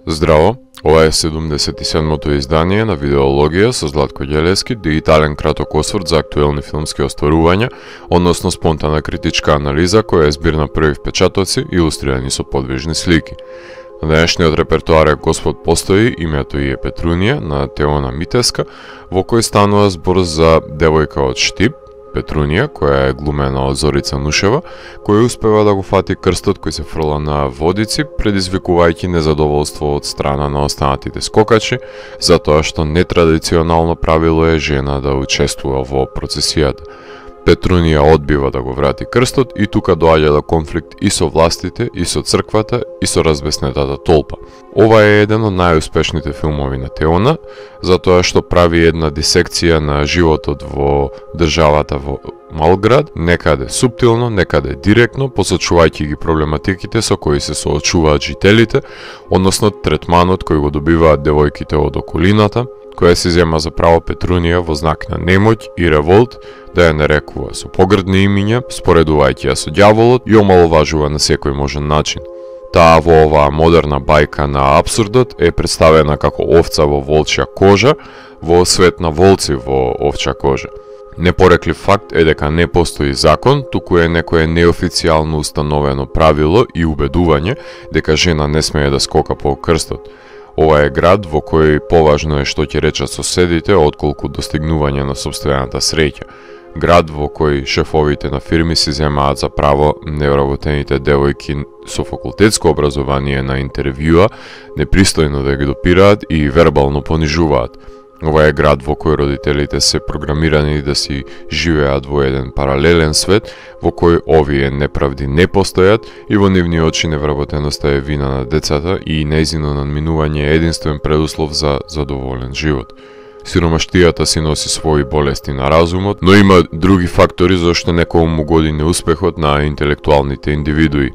Здраво, ова е 77-то издание на Видеологија со Златко Ѓелевски, дигитален краток осврт за актуелни филмски остварувања, односно спонтана критичка анализа која е збир на први впечатоци илустрирани со подвижни слики. На денешниот репертоар е Господ постои, името и е Петрунија на Теона Митеска, во кој станува збор за девојка од Штип, Петрунија, која е глумена од Зорица Нушева, која успева да го фати крстот кој се фрла на водици, предизвикувајќи незадоволство од страна на останатите скокачи, затоа што нетрадиционално правило е жена да учествува во процесијата. Петрунија одбива да го врати крстот и тука доаѓа до конфликт и со властите, и со црквата, и со разбеснетата толпа. Ова е еден од најуспешните филмови на Теона, затоа што прави една дисекција на животот во државата во Малград, некаде суптилно, некаде директно, посочувајќи ги проблематиките со кои се соочуваат жителите, односно третманот кој го добиваат девојките од околината, која се зема за право Петрунија во знак на немоќ и револт да ја нарекува со погрдни имиња, споредувајќи ја со ѓаволот и омаловажува на секој можен начин. Таа во оваа модерна бајка на абсурдот е представена како овца во волчја кожа, во свет на волци во овчја кожа. Непореклив факт е дека не постои закон, туку е некое неофицијално установено правило и убедување дека жена не смее да скока по крстот. Ова е град во кој поважно е што ќе речат соседите отколку достигнување на сопствената среќа. Град во кој шефовите на фирми си земаат за право невработените девојки со факултетско образование на интервјуа непристојно да ги допираат и вербално понижуваат. Ова е град во кој родителите се програмирани да си живеат во еден паралелен свет, во кој овие неправди не постојат и во нивни очи невработеноста е вина на децата и нејзино надминување е единствен предуслов за задоволен живот. Сиромаштијата си носи своји болести на разумот, но има други фактори зашто некому му годи неуспехот на интелектуалните индивидуи.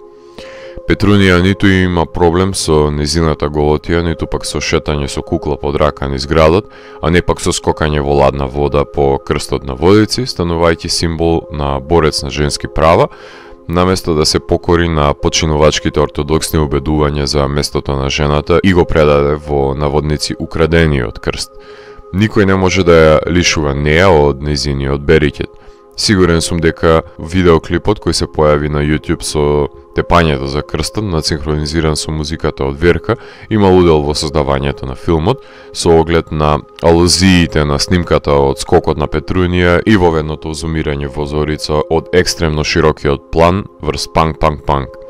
Петрунија ниту има проблем со незината голотија, ниту пак со шетање со кукла под рака низ градот, а не пак со скокање во ладна вода по крстот на водици, станувајќи символ на борец на женски права, наместо да се покори на починувачките ортодоксни убедувања за местото на жената и го предаде во наводници украдениот крст. Никој не може да ја лишува неа од незиниот берикет. Сигурен сум дека видеоклипот кој се појави на YouTube со тепањето за крстот, надсинхронизиран со музиката од Верка, имал удел во создавањето на филмот, со оглед на алузиите на снимката од скокот на Петрунија и воведното зумирање во Зорица од екстремно широкиот план врз панк.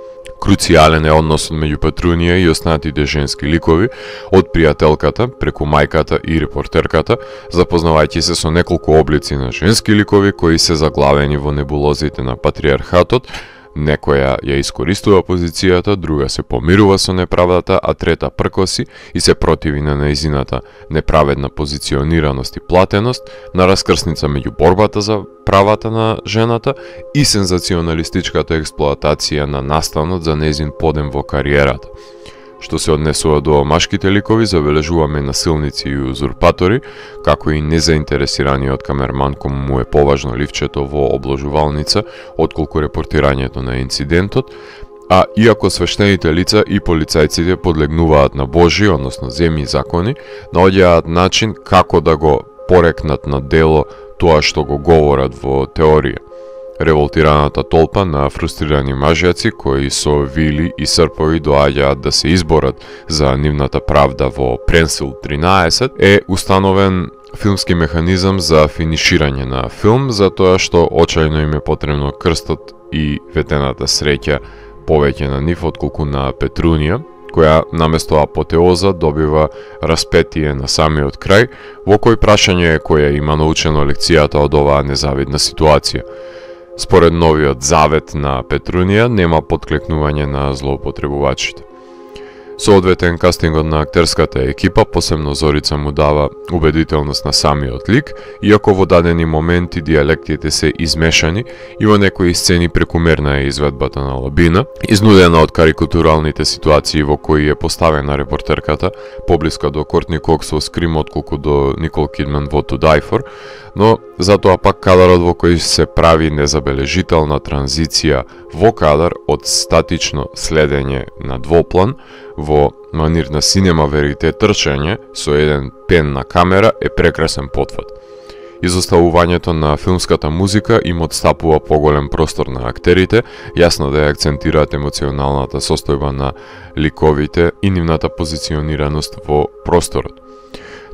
Круцијален е односот меѓу Петрунија и останатите женски ликови, од пријателката, преку мајката и репортерката, запознавајќи се со неколку облици на женски ликови кои се заглавени во небулозите на патриархатот. Некоја ја искористува позицијата, друга се помирува со неправдата, а трета пркоси и се противи на нејзината неправедна позиционираност и платеност, на раскрсница меѓу борбата за правата на жената и сензационалистичката експлоатација на настанот за нејзин подем во кариерата. Што се однесува до машките ликови, забележуваме насилници и узурпатори, како и незаинтересираниот камерман кому му е поважно ливчето во обложувалница, отколку репортирањето на инцидентот, а иако свештените лица и полицајците подлегнуваат на Божи, односно земји закони, наоѓаат начин како да го порекнат на дело тоа што го говорат во теорија. Револтираната толпа на фрустрирани мажјаци кои со вили и српови доаѓаат да се изборат за нивната правда во Пренсил 13 е установен филмски механизам за финиширање на филм, затоа што очајно им е потребно крстот и ветената среќа повеќе на нив отколку на Петрунија, која наместо апотеоза добива распетие на самиот крај, во кој прашање е која има научено лекцијата од оваа незавидна ситуација. Според новиот завет на Петрунија нема подклекнување на злоупотребувачите. Соодветен кастингот на актерската екипа, посебно Зорица му дава убедителност на самиот лик, иако во дадени моменти дијалектите се измешани и во некои сцени прекумерна е изведбата на Лабина, изнудена од карикатуралните ситуации во кои е поставена репортерката, поблиска до Кортни Кокс во Скрим отколку до Никол Кидман во To Die For, но затоа пак кадарот во кој се прави незабележителна транзиција во кадар од статично следење на двоплан во манир на синема верите трчање со еден пен на камера е прекрасен потфат. Изоставувањето на филмската музика им отстапува поголем простор на актерите, јасно да ја акцентираат емоционалната состојба на ликовите и нивната позиционираност во просторот.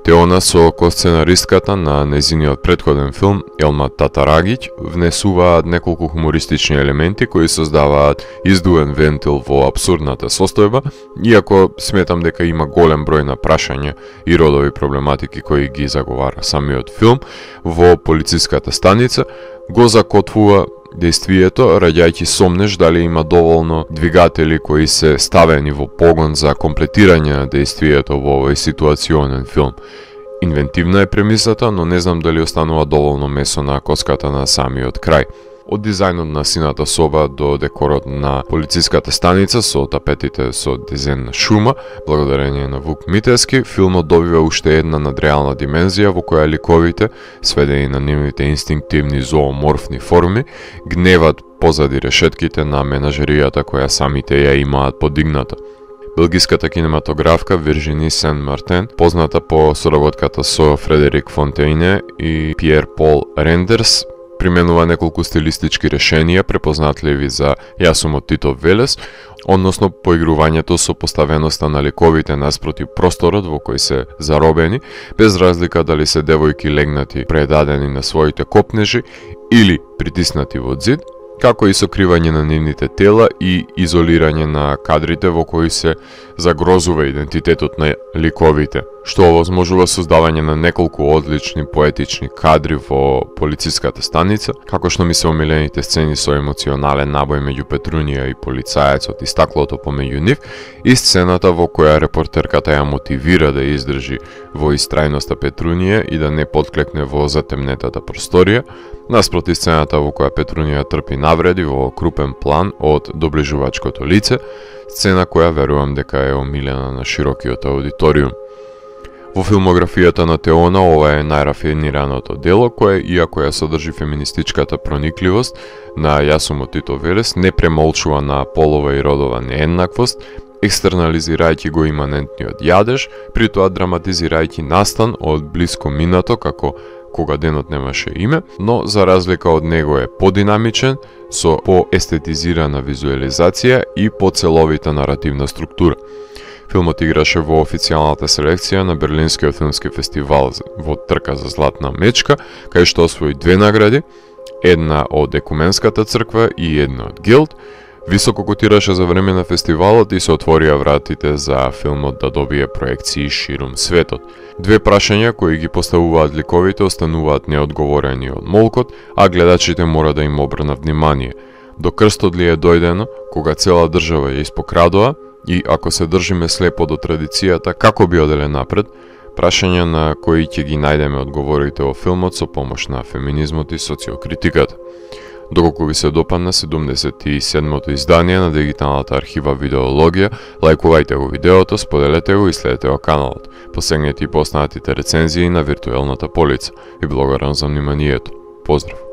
Теона со косценаристката на нејзиниот претходен филм Елма Татарагиќ внесуваат неколку хумористични елементи кои создаваат издуен вентил во абсурдната состојба, иако сметам дека има голем број на прашања и родови проблематики кои ги заговара самиот филм, во полициската станица го закотвува дејствието, раѓајќи сомнеш дали има доволно двигатели кои се ставени во погон за комплетирање на дејствието во овој ситуационен филм. Инвентивна е премисата, но не знам дали останува доволно месо на коската на самиот крај. Од дизајнот на сината соба до декорот на полициската станица со тапетите со дизајн на шума, благодарение на Вук Митевски, филмот добива уште една надреална димензија во која ликовите, сведени на нивните инстинктивни зооморфни форми, гневат позади решетките на менажеријата која самите ја имаат подигната. Белгиската кинематографка Виржини Сен-Мартен, позната по соработката со Фредерик Фонтейне и Пиер Пол Рендерс, применува неколку стилистички решенија препознатливи за јасумот Титов Велес, односно поигрувањето со поставеноста на ликовите наспроти просторот во кој се заробени, без разлика дали се девојки легнати предадени на своите копнежи или притиснати во зид, како и сокривање на нивните тела и изолирање на кадрите во кои се загрозува идентитетот на ликовите, што овозможува создавање на неколку одлични поетични кадри во полициската станица, како што ми се омилените сцени со емоционален набој меѓу Петрунија и полицаецот и стаклото помеѓу нив, и сцената во која репортерката ја мотивира да издржи во истрајноста Петрунија и да не подклекне во затемнетата просторија, наспроти сцената во која Петрунија трпи навреди во крупен план од доближувачкото лице, сцена која верувам дека е омилена на широкиот аудиториум. Во филмографијата на Теона ова е најрафинираното дело кое, иако ја содржи феминистичката проникливост на јасумот Тито Велес, не премолчува на полова и родова нееднаквост, екстернализирајќи го иманентниот јадеж, при тоа драматизирајќи настан од блиско минато како кога денот немаше име, но за разлика од него е подинамичен, со поестетизирана визуализација и поцеловита наративна структура. Филмот играше во официјалната селекција на Берлинскиот филмски фестивал во трка за златна мечка, кај што освои 2 награди, една од Екуменската црква и една од Гилд. Високо котираше за време на фестивалот и се отворија вратите за филмот да добие проекции ширум светот. 2 прашања кои ги поставуваат ликовите остануваат неодговорени од молкот, а гледачите мора да им обрнат внимание. До крстот ли е дојдено, кога цела држава ја испокрадува, и ако се држиме слепо до традицијата, како би оделе напред, прашања на кои ќе ги најдеме одговорите во филмот со помош на феминизмот и социокритиката. Доколку ви се допадна 77-то издание на дигиталната архива Видеологија, лајкувајте го видеото, споделете го и следете го каналот. Посегнете и по останатите рецензии на виртуелната полица. И благодарам за вниманието. Поздрав!